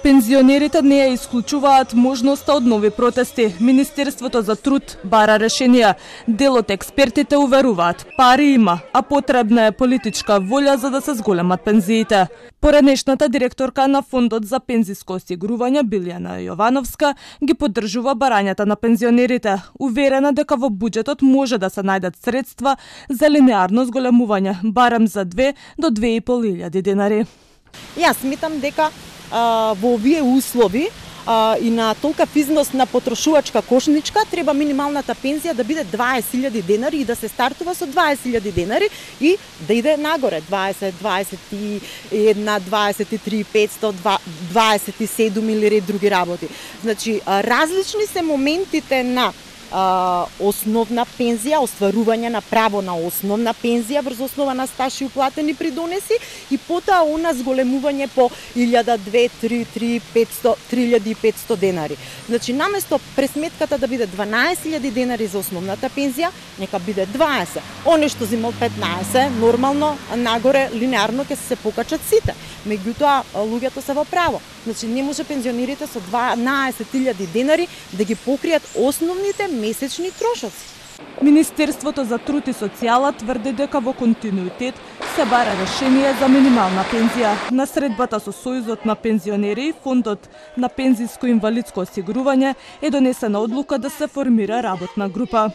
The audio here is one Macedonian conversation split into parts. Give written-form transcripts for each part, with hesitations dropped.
Пензионерите не ја исклучуваат можноста од нови протести. Министерството за труд бара решенија. Дел од експертите уверуваат, пари има, а потребна е политичка волја за да се зголемат пензиите. Поранешната директорка на Фондот за пензиско осигурување Билјана Јовановска ги поддржува барањата на пензионерите, уверена дека во буџетот може да се најдат средства за линеарно зголемување, барем за 2 до 2.500 денари. Јас сметам дека во овие услови и на толкав износ на потрошувачка кошничка треба минималната пензија да биде 20.000 денари и да се стартува со 20.000 денари и да иде нагоре 20, 21, 23, 500, 27 или други работи. Значи, различни се моментите на основна пензија, остварување на право на основна пензија врз основа на стаж и уплатени придонеси и потоа она зголемување по 1000, 2, 3, 500, 3500 денари. Значи, наместо пресметката да биде 12.000 денари за основната пензија, нека биде 20. Оне што земал 15, нормално, нагоре, линеарно ќе се покачат сите. Меѓутоа, луѓето се во право. Значи, не може пензионерите со 12.000 денари да ги покријат основните месечни трошоци. Министерството за труд и социјала тврди дека во континуитет се бара решение за минимална пензија. На средбата со Сојузот на пензионери и Фондот на пензиско инвалидско осигурување е донесена одлука да се формира работна група.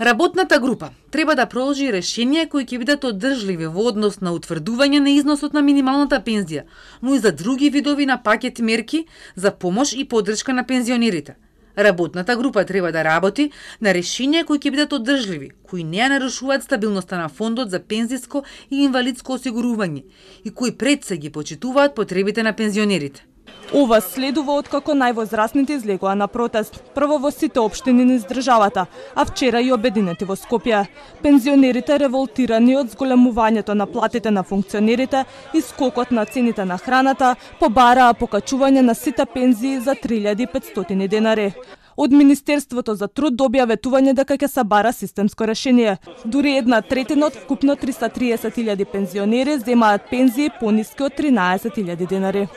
Работната група треба да проложи решенија кои ќе бидат одржливи во однос на утврдување на износот на минималната пензија, но и за други видови на пакет мерки за помош и поддршка на пензионерите. Работната група треба да работи на решенија кои ќе бидат одржливи, кои не ја нарушуваат стабилноста на Фондот за пензиско и инвалидско осигурување и кои пред се ги почитуваат потребите на пензионерите. Ова следува откако највозрасните излегоа на протест, прво во сите општини низ државата, а вчера и обединети во Скопје. Пензионерите револтирани од зголемувањето на платите на функционерите и скокот на цените на храната побараа покачување на сите пензии за 3500 денари. Од Министерството за труд добија ветување дека ќе се бара системско решение. Дури 1/3 од вкупно 330.000 пензионери земаат пензии пониски од 13.000 денари.